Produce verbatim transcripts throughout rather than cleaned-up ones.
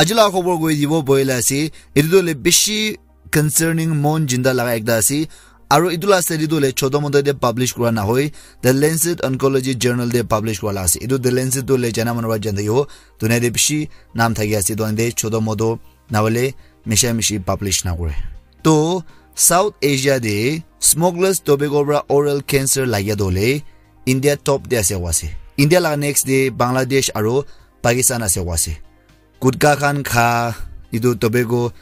Aji laga khobor koi dibo boile ase, etu tu le bishi concerning mon jinda laga ekta ase. Aru etu la study tu le choto moto te publish kura na hoi, The Lancet Oncology Journal te publish kura la ase. Etu The Lancet tu le jana manu para jana yo, dunia te bishi naam thaki ase, to ande choto moto na hole misha mishi publish na kore. To South Asia te smokeless tobacco para oral cancer lagya to le India top te ase wa ase. India laga next te Bangladesh aru Pakistan ase wa ase. Gutka khan kha, etu tobacco,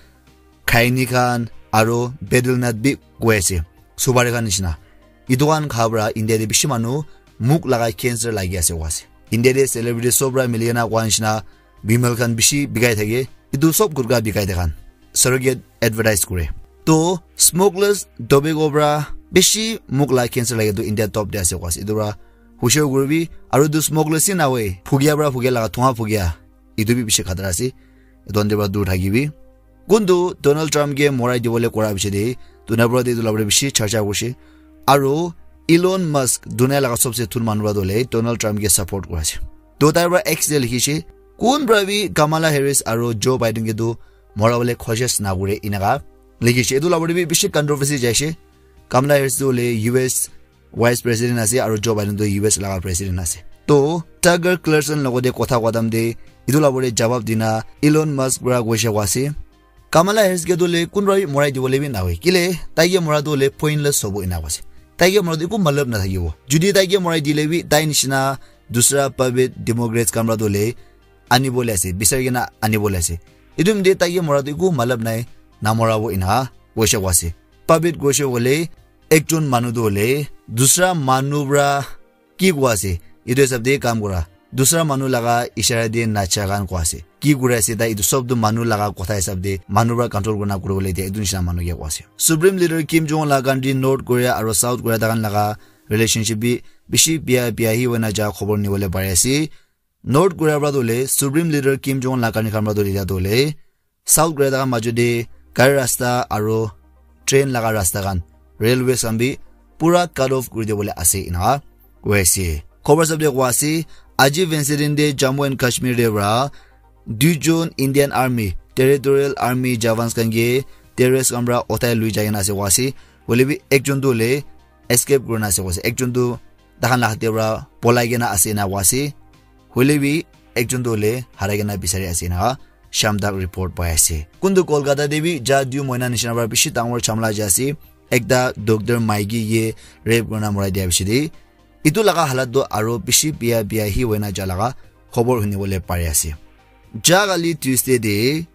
khaini khan, aru betel nut bi koi ase, supari khan nishina. Etu khan kha para India te bishi manu muk laga cancer lagi ase koi ase. India te celebrity sob para mili kena koi nishina, bimal khan bishi bikai thake. Etu sob gutka bikai thaka khan surrogate advertise kore. To smokeless tobacco para bishi muk laga cancer lagi tu India top te ase koi ase. Etu para hushar kuribi, aru etu smokeless hi na hoi, phugia para phugia laga, thua phugia, etu bi bishi khatara ase. Etu khan te para dur thakibi. Kuntu Donald Trump ke morai dibole kora piche te, dunia para te etu la bishi charcha hoise. Aru Elon Musk, dunia laga sobse thun manu para to le Donald Trump ke support kora ase. To tai para X te likhi se, kun para bi Kamala Harris aru Joe Biden ke tu mora bole khojis na kore, inaka likhi se. Etu la bi bishi controversy jai se. Kamala Harris tu le U S Vice President ase aru Joe Biden tu U S laga President ase. To Tucker Carlson logote kotha kotam te etu la bole jawab dina Elon Musk para koise koi ase, Kamala Harris ke tu le kun para bi morai dibole bi na hoi. Kile tai ke mora tu le pointless hobo, ina koi ase. Tai ke mora tu eku matlab na thakibo. Judi tai ke morai dile bi tai nishina dusra puppet Democrats khan para tu le ani bole ase, bisari kena ani bole ase. Etu mde tai ke mora tu eku matlab nai, na mora bo, ina koise koi ase. Puppet koise bole ekjon manu tu hole dusra manu para ki koi ase, etu hisab te kam kora. Dusra manu laga ishara te nacha khan koi ase. Ki kuri ase tai, etu sob tu manu laga kotha hisab te manu para control kurina kuri bole dia, etu nishina manu ke koi ase. Supreme Leader Kim Jong Un laga country North Korea aru South Korea takan laga relationship bi bishi bia bia hi hoina ja khobor nibole pari ase. North Korea para tu le Supreme Leader Kim Jong Un laga country khan para tu le South Korea laga majo te gari rasta aru train laga rasta khan, railways khan bi pura cut off kuri dibole ase, ina koi ase. Khobor sab te koi ase, aji Wednesday din te Jammu and Kashmir te para duijon Indian Army, Territorial Army jawans khan ke terrorist khan para uthai lui jai kena ase koi ase. Hoile bi ekjon tu hole escape kurina ase koi ase. Ekjon tu tahan la hath te para polai kena ase ena koi ase. Hoile bi ekjon tu hole harai kena bisari ase ena sham tak report pai ase. Kuntu Kolkata te bi ja dui moina nishina para bishi dangor jhamla ja ase. Ekta doctor maiki ke rape kurina morai dia bishi de. Etu laga halat tu aro bishi bia bia hi hoina ja laga khobor huni bole pari ase. Ja kali Tuesday de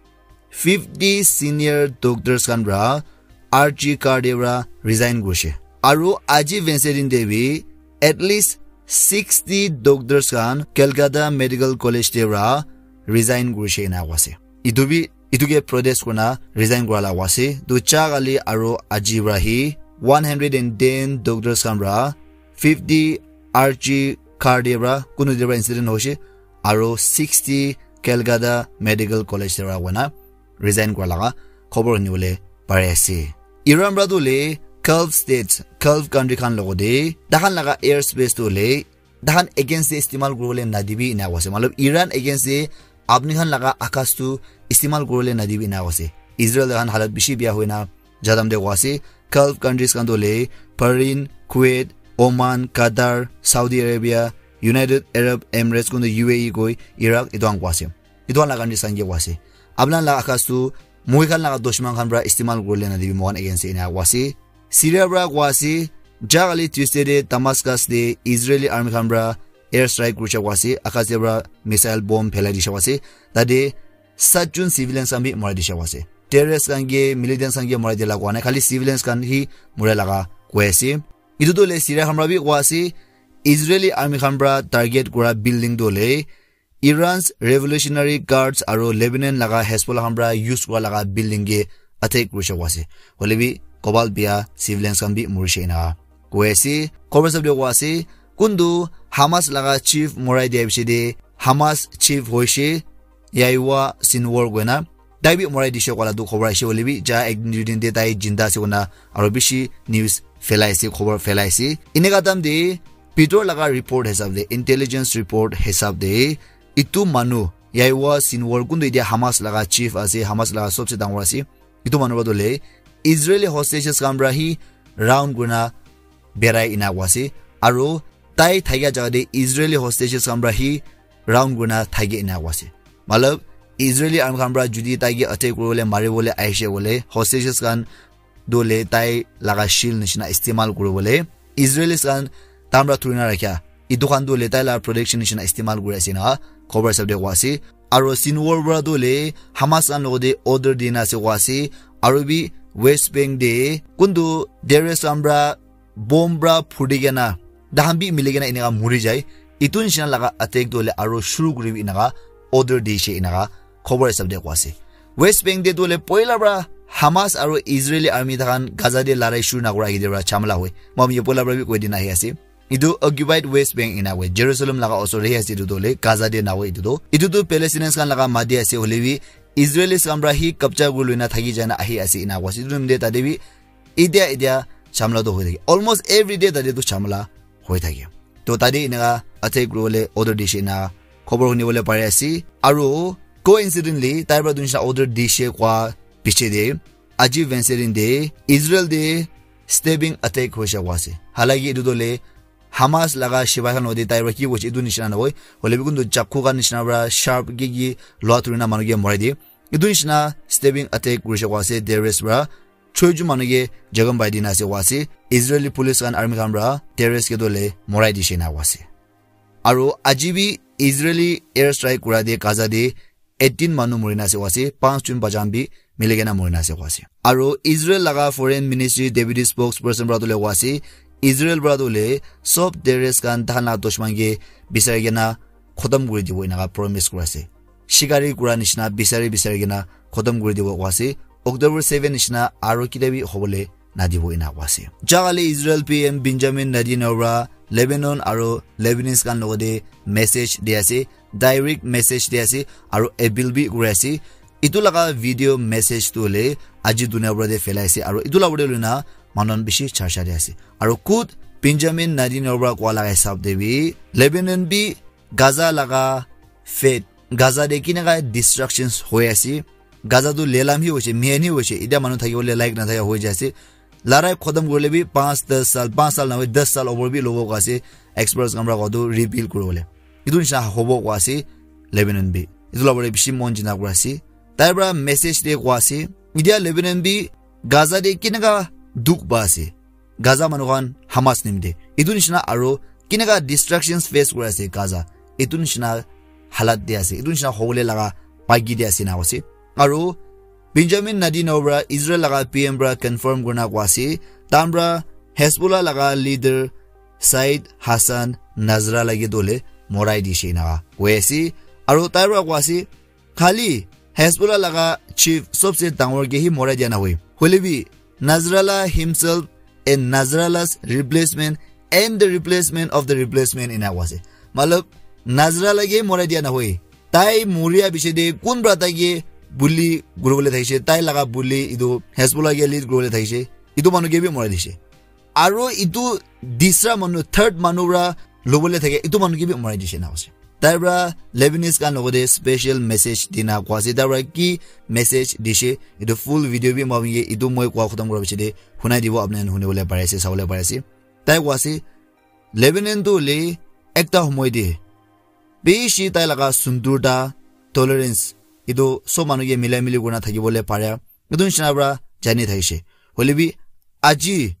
fifty senior doctors khan para R G Kar te para resign kurishe. Aru aji Wednesday din te bi at least sixty doctors khan Kolkata Medical College te para resign kurishe ena koa ase. Etu bi, etu ke protest kurina resign kura la koa ase. Tu ja kali aru aji para hi one hundred and ten doctors khan para fifty R G Kar te para kunu te para incident hoishe. Aru sixty Kolkata Medical College te para koina resign kura laga khobor huni bole pari ase. Iran para tu le Gulf states, Gulf country khan logo te, tahan laga airspace tu le, tahan against te istimal kuri bole nadibi ena koa ase. Matlab, Iran against te apni khan laga akas tu istimal kuri bole nadibi ena koa ase. Israel tahan halat bishi bia hoina jadam te koa ase. Gulf countries khan tu le, Bahrain, Kuwait, Oman, Qatar, Saudi Arabia, United Arab Emirates, kuntu U A E koi, Iraq, etu khan koa ase. Etu khan laga countries khan ke koa ase. Apna laga akas tu, moi khan laga dushman khan para istimal kuri bole nadibi moi khan against te ena koa ase. Syria para koa ase, ja kali Tuesday te Damascus te Israeli army khan para air strike kurishe koa ase, akas te para missile bomb phelai dishe koa ase. Tate satjon civilians khan bi marai dishe koa ase. Terrorists khan ke, militants khan ke marai dila koa nai, khali civilians khan hi marai laga koi ase. Etu tu le Syria khan para bi koa ase, Israeli army khan para target kura building tu le Iran's Revolutionary Guards aru Lebanon laga Hezbollah khan para use kura laga building ke attack kurishe koa ase. Hoile bi kobal bia civilians khan bi morishe ena koa ase. Khobor sab te koa ase, kuntu Hamas laga chief morai dia piche te Hamas chief hoishe Yahya Sinwar koina tai bi morai dishe koa la tu khobor aishe. Hoile bi ja ek din dui din te tai jinda ase koina aru bishi news phelai ase, khobor phelai ase. Eneka time te bhitor laga report hisab te, intelligence report hisab te, etu manu Yahya Sinwar, kuntu etia Hamas laga chief ase, Hamas laga sobse dangor ase. Itu manu para tu le Israeli hostages khan para hi round kurina berai ena koa ase. Aru tai thakia jaga te Israeli hostages khan para hi round kurina thaki ena koa ase. Matlab, Israeli army khan para jodi tai ke attack kuribole, maribole ahishe koile, hostages khan tu le tai laga shield nishina istemal kuribole, Israelis khan tai para thurina rakhia. Itu khan tu le tai laga protection nishina istemal kuri ase na, khobor hisab te koa ase. Aru Sinwar para tu le Hamas khan logote order dina ase koa ase. Aru bi West Bank te kuntu terrorist khan para bomb para phudi kena, dahan bi mili kena eneka muri jai. Itu nishina laga attack tu le aru shuru kuribi eneka order dishe eneka khobor hisab te koa ase. West Bank te tu le poila para Hamas aru Israeli army takhan Gaza te larai shuru nakura age te para jhamala hoi. Moi ye poila para bi koi dina ahi ase. Itu occupied West Bank ena hoi. Jerusalem laga osor te ase itu tu le Gaza te na hoi itu tu. Itu tu Palestinians khan laga mati ase hoile bi Israelis khan para hi kabja kuri loina thaki jana ahi ase ena koa ase. Itu time te tate bi etia, etia jhamala tu hoi thake. Almost every day tate tu jhamala hoi thake. To tate eneka attack kuribole order dishe ena khobor hunibole pari ase. Aru coincidentally, tai para tu nishina order dishe koa piche te, aji Wednesday din te, Israel te stabbing attack hoise koa ase. Halaki itu tu le Hamas laga shipai khan logote tai para ki hoise itu nishina nahoi. Hoile bi kuntu chaku khan nishina para sharp ki ki loa thurina manu ke morai diye. Itu nishina stabbing attack kurise koa ase terrorist para. Choi jon manu ke jakham pai dina ase koa ase. Israeli police khan army khan para terrorist ke tu le morai dishe na koa ase. Aru aji bi Israeli air strike kura te Gaza te eighteen manu murina ase koa ase, panch jon bacha khan bi mili kena murina ase koa ase. Aru Israel laga foreign ministry deputy spokesperson para tu le koa ase, Israel para tu le sob terrorist khan takhan laga dushman ke bisari kena khotom kuri dibo eneka promise kuri ase. Shikari kura nishina bisari bisari kena khotom kuri dibo koa ase. October seven nishina aru kitia bi hobole nadibo ena koa ase. Jagale Israel P M Benjamin Netanyahu para Lebanon aru Lebanese khan logote message di ase, direct message di ase, aru appeal bi kuri ase. Itu laga video message tu hoile aji dunia para te phelai ase, aru itu laga para te loina manu khan bishi charcha di ase. Aru khud Benjamin Netanyahu para koa laga hisab te bi Lebanon bi Gaza laga fate, Gaza te kineka destructions hoi ase, Gaza tu lelam hi hoise, mihan hi hoise, etia manu thakibole laik nathaka hoi jai ase. Larai khotom kurile bi panch, das sal, panch sal nahoi, das sal over bi lobo koa ase, experts khan para koa tu rebuild kuribole. Itu nishina hobo koa ase, Lebanon bi. Itu laga para bishi mon jina kura ase. Tai para message te koa ase, etia Lebanon bi Gaza te kineka dukh pa ase. Gaza manu khan Hamas nimite. Itu nishina aru kineka destructions face kuri ase Gaza. Itu nishina halat te ase. Itu nishina hobole laga pagi te ase na koa ase. Aru Benjamin Netanyahu para Israel laga P M para confirm kurina koa ase. Tai para Hezbollah laga leader Said Hassan Nasrallah ke tu hoile morai dishe eneka koi ase. Aru tai para koa ase, khali Hezbollah laga chief sobse dangor ke hi morai dia nahoi. Hoile bi, Nasrallah himself and Nasrallah's replacement and the replacement of the replacement ena koa ase. Matlab, Nasrallah ke morai dia nahoi. Tai moria piche te kun para tai ke bully kuribole thakise, tai laga bully itu Hezbollah ke lead kuribole thakise, itu manu ke bi morai dise. Aru itu disra manu, third manu para lobole thake, itu manu ke bi morai dise na ase. Tai para Lebanese khan logote special message dina koa ase. Tai para ki message dise, itu full video bi moi apni ke itu moi koa khotom kura piche te hunai dibo, apni khan hunibole pari ase, sabole pari ase. Tai koa ase, Lebanon tu hoile ekta homoi te bishi tai laga sundurta, tolerance, itu sob manu ke milai mili kurina thakibole pare. Itu nishina para jani thakise. Hoile bi aji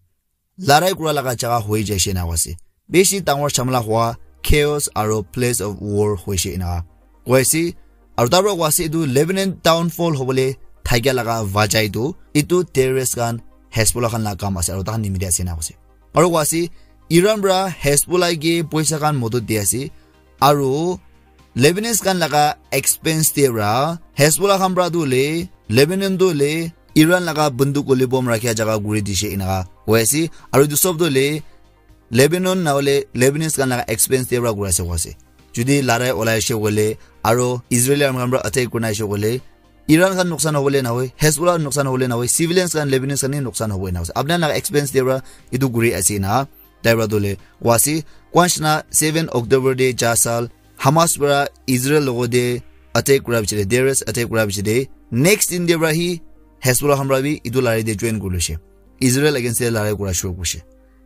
larai kura laga jaga hoi jaise na ase. Bishi dangor jhamala hua, chaos aru place of war hoise ena koi ase. Aru tai para koi ase, etu Lebanon downfall hobole thakia laga wajah etu, etu terrorist khan, Hezbollah khan laga kam ase aru tai khan nimite ase ena koi ase. Aru koi ase, Iran para Hezbollah ke poisa khan modot di ase. Aru Lebanese khan laga expense te para Hezbollah khan para tu hoile, Lebanon tu hoile, Iran laga bunduk hoile bomb rakhia jaga kuri dise eneka koi ase. Aru etu sob tu hoile Lebanon na hoile Lebanese khan laga expense te para kuri ase koi ase. Jodi larai olai ase koile, aru Israeli army khan para attack kurina ase koile, Iran khan nuksan hobole nahoi, Hezbollah nuksan hobole nahoi, civilians khan, Lebanese khan he nuksan hobo ena ase. Apni khan laga expense te para etu kuri ase na, tai para tu hoile koi ase, koi nishina seven October te ja sal Hamas para Israel logote attack kura piche te, terrorist attack kura piche te, next din te para hi Hezbollah khan para bi etu larai te join kuri lise. Israel against te larai kura shuru kurise.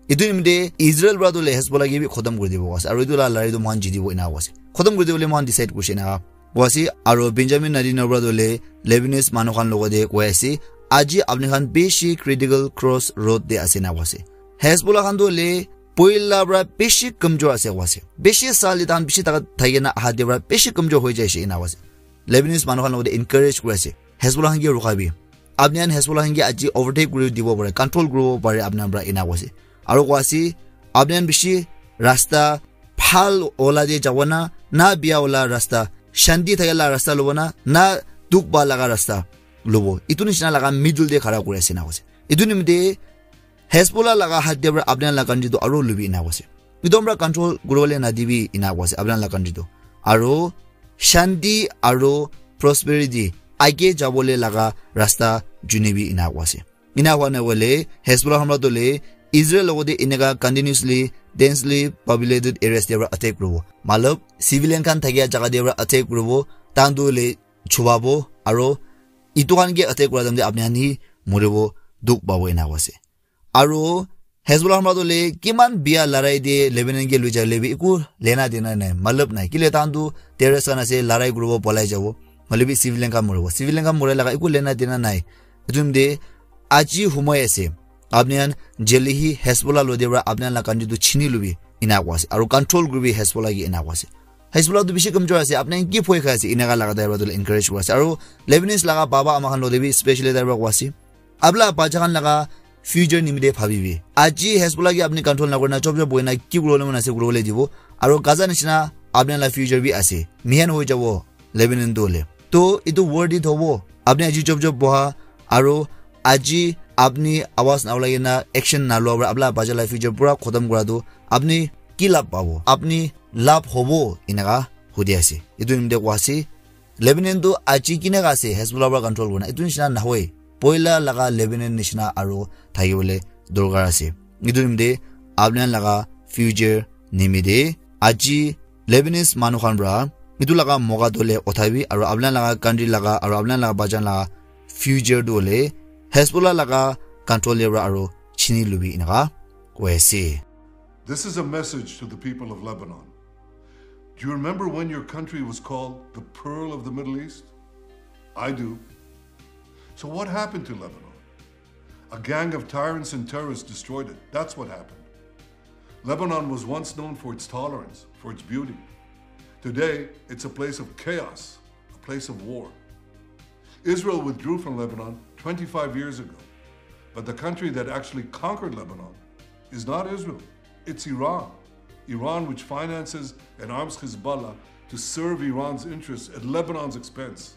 Etu nimite Israel para tu le Hezbollah ke bi khotom kuri dibo ase. Aru etu la larai tu mohan jitibo ena ase. Khotom kuri dibole mohan decide kurise ena ase. Aru Benjamin Netanyahu para tu le Lebanese manu khan logote koi ase, aji apni khan bishi critical cross road te ase ena ase. Hezbollah khan tu le poila para bishi kamjor ase ena ase. Bishi sali tan bishi taka thakina aha de para bishi kamjor hoi jaise ena ase. Lebanese manu khan logote encourage kuri ase. Hezbollah khan ke rukha bi. Apni khan Hezbollah khan ke aji overtake kuri dibo pare, control kuri bo pare apni khan para ena ase. Aru koi ase, apni khan bishi rasta bhal ola de jabo na, na bia ola rasta, shanti thakila rasta lobo na, na dukh pa laga rasta lobo. Etu nishina laga middle de khara kuri ase ena ase. Etu nimite Hezbollah laga hat de para apni khan laga country tu aru lubi ena ase. Etu para control kuri bole na dibi ena ase apni khan laga country tu. Aru shanti aru prosperity age jabole laga rasta junibi ena ase. Ena hua na hoile Hezbollah hamla tu le Israel logote eneka continuously, densely populated areas te para attack kuribo. Matlab, civilian khan thakia jaga te para attack kuribo, tahan tu le chubabo, aru etu khan ke attack kura time te apni khan hi moribo, dukh pabo ena ase. Aru Hezbollah hamla tu le kiman bia larai de Lebanon ke lui jale bi eku lena dena nai, matlab nai. Kile tahan tu terrorist khan ase, larai kuribo, polai jabo. Hoile bi civilian khan moribo. Civilian khan morai laga eku lena dena nai. Etu nimite aji humai ase. Apni khan jeli hi Hezbollah lo de para apni khan la country tu chini lubi ena ase. Aru control kuribi Hezbollah ke ena ase. Hezbollah tu bishi kamjor ase. Apni khan ki phoi khai ase? Eneka laga driver tu le encourage kuri ase. Aru Lebanese laga baba ama khan lo de bi specially driver koi ase. Apni la bacha khan laga future nimite bhabibi. Aji Hezbollah ke apni control na kurina chop chop boina ki kuribole mon ase kuribole dibo. Aru Gaza nishina apni la future bi ase. Mihan hoi jabo Lebanon tu le. To etu worth it hobo. Apni aji chop chop boha aru aji apni awaz na ulai na action na lua para apni la bacha la future pura khotom kura tu apni ki labh pabo? Apni labh hobo eneka hudi ase. Etu nimite koi ase. Lebanon tu aji kineka ase Hezbollah para control kurina. Etu nishina nahoi. Poila laga Lebanon nishina aru thakibole dorkar ase. Etu nimite apni khan laga future nimite aji Lebanese manu khan para etu laga moka tu le uthaibi aru apni khan laga country laga aru apni khan laga bacha laga future tu le Hezbollah laga control te para aru chini lubi eneka koi ase. This is a message to the people of Lebanon. Do you remember when your country was called the Pearl of the Middle East? I do. So, what happened to Lebanon? A gang of tyrants and terrorists destroyed it. That's what happened. Lebanon was once known for its tolerance, for its beauty. Today, it's a place of chaos, a place of war. Israel withdrew from Lebanon twenty-five years ago, but the country that actually conquered Lebanon is not Israel, it's Iran. Iran, which finances and arms Hezbollah to serve Iran's interests at Lebanon's expense.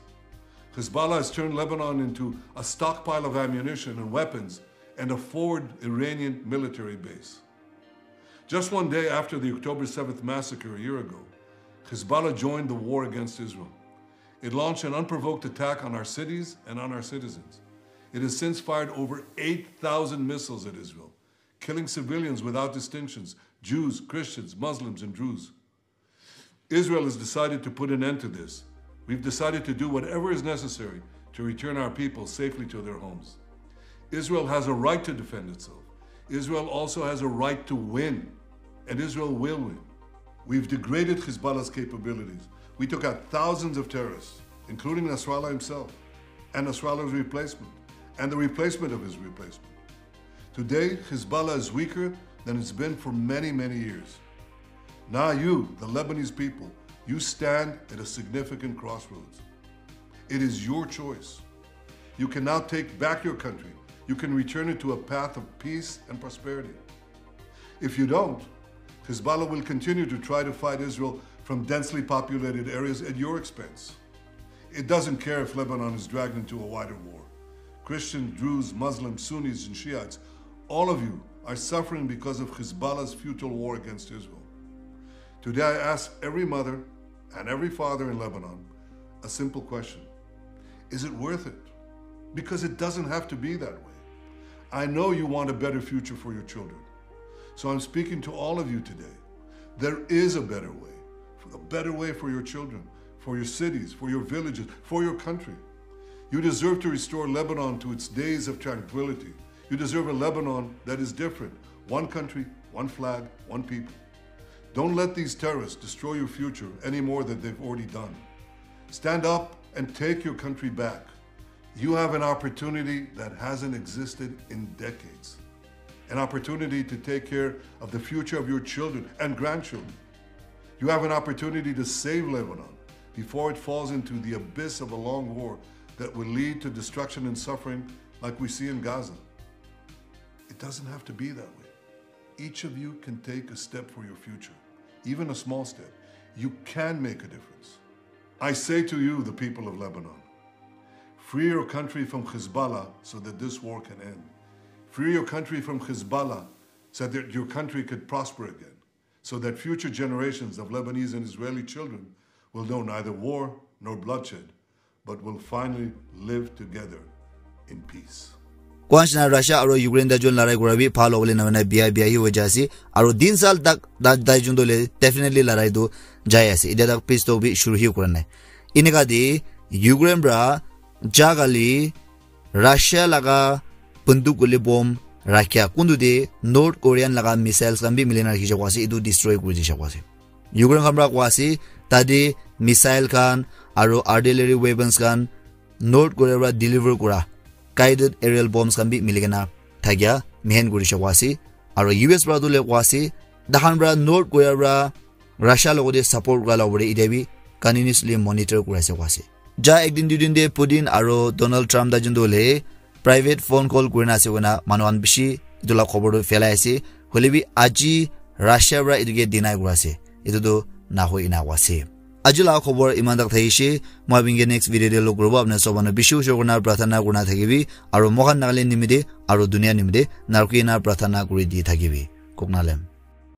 Hezbollah has turned Lebanon into a stockpile of ammunition and weapons and a forward Iranian military base. Just one day after the October seventh massacre a year ago, Hezbollah joined the war against Israel. It launched an unprovoked attack on our cities and on our citizens. It has since fired over eight thousand missiles at Israel, killing civilians without distinctions, Jews, Christians, Muslims, and Druze. Israel has decided to put an end to this. We've decided to do whatever is necessary to return our people safely to their homes. Israel has a right to defend itself. Israel also has a right to win, and Israel will win. We've degraded Hezbollah's capabilities. We took out thousands of terrorists, including Nasrallah himself, and Nasrallah's replacement, and the replacement of his replacement. Today, Hezbollah is weaker than it's been for many, many years. Now, you, the Lebanese people, you stand at a significant crossroads. It is your choice. You can now take back your country. You can return it to a path of peace and prosperity. If you don't, Hezbollah will continue to try to fight Israel from densely populated areas at your expense. It doesn't care if Lebanon is dragged into a wider war. Christians, Druze, Muslims, Sunnis, and Shiites, all of you are suffering because of Hezbollah's futile war against Israel. Today, I ask every mother and every father in Lebanon a simple question. Is it worth it? Because it doesn't have to be that way. I know you want a better future for your children. So I'm speaking to all of you today. There is a better way, a better way for your children, for your cities, for your villages, for your country. You deserve to restore Lebanon to its days of tranquility. You deserve a Lebanon that is different. One country, one flag, one people. Don't let these terrorists destroy your future any more than they've already done. Stand up and take your country back. You have an opportunity that hasn't existed in decades. An opportunity to take care of the future of your children and grandchildren. You have an opportunity to save Lebanon before it falls into the abyss of a long war that will lead to destruction and suffering like we see in Gaza. It doesn't have to be that way. Each of you can take a step for your future, even a small step. You can make a difference. I say to you, the people of Lebanon, free your country from Hezbollah so that this war can end. Free your country from Hezbollah so that your country could prosper again, so that future generations of Lebanese and Israeli children will know neither war nor bloodshed, but will finally live together in peace. Kwanshna Russia aro Ukraine ta jun larai kura bi phal hobole na na bia bia hi hoja ase, aro din sal tak da dai jun dole definitely larai tu jai ase. Ida tak peace talk bi shuru hi kura nai. Inika de Ukraine pra jagali Russia laga banduk guli bomb rakhia kundu de North Korean laga missiles khan bi milina rakhi jakwa ase, etu destroy kuri di jakwa ase. Ukraine khan pra kwa ase, tade missile khan aro artillery weapons khan North Korea pra deliver kura guided aerial bombs khan bi milikena thakia mehen kuri jakwa ase. Aro U S pra tu le kwa ase, dahan pra North Korea pra Russia logote support kura la wore ide bi continuously monitor kuri ase kwa ase. Ja ek din dui din de Putin aro Donald Trump ta jun dole private phone call kurina ase koina manu khan bishi etu la khobor tu phelai ase. Hoile bi aji Russia pra etu ke deny kura ase. Etu tu nahoi ena koa ase. Aji la khobor iman tak thakishe. Moi apni ke next video de log kuribo. Apni sob manu bishi ushor kurina prarthana kurina thakibi. Aro moikhan Nagaland nimite aro dunia nimite narki na prarthana kuri di thakibi. Koknalem.